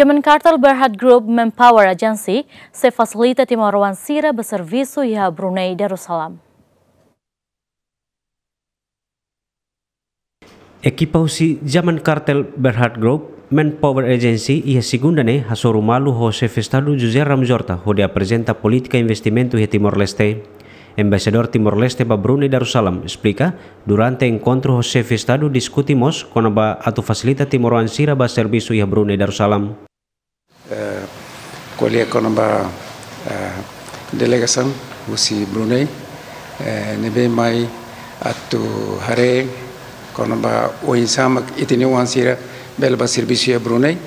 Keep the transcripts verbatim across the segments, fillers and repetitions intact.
Zaman Kartel Berhad Group Manpower Agency sei fasilita timoroan sira ba servisu iha Brunei Darussalam. Ekipa husi Zaman Kartel Berhad Group Manpower Agency iha segunda ne'e hasoru malu ho Xefe Estadu José Ramos Horta hodi aprezenta polítika investimentu iha Timor-Leste. Embaixadór Timor-Leste ba Brunei Darussalam esplika, durante enkontru ho Xefe Estadu diskute mós kona-ba atu fasilita timoroan sira ba servisu iha Brunei Darussalam. Eh, ko'alia kona-ba, eh, delegasaun husi Brunei, eh, ne'ebé mai atu haree kona-ba oinsá mak ita-nia oan sira bele ba servisu iha Brunei,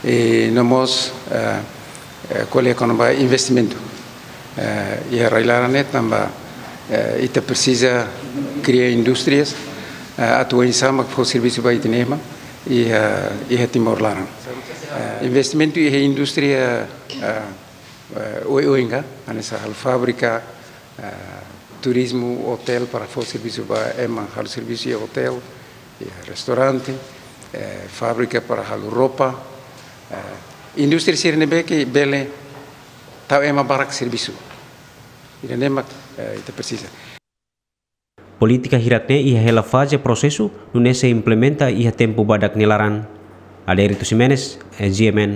i no mós, eh, eh, ko'alia kona-ba investimentu. Eh, iha rai-laran ne'e tanba, eh, ita presiza kria indústrias, eh, atu oinsá mak fó servisu ba ita-nia ema iha, iha Timor laran. Eh, investimentu iha indústria, eh, eh, oioin ka, hanesan halo fábrika, eh, turizmu, otél para fó servisu ba ema halo servisu iha otél, iha restaurante, eh, fábrika para halo roupa, eh, indústria sira ne'ebé ke bele tau ema barak servisu. Ida-ne'e mak, eh, ita presiza. Polítika hirak-ne'e iha hela faze prosesu, nune'e sei implementa iha tempu badak nia laran. Adérito Ximenes, eh, G M N.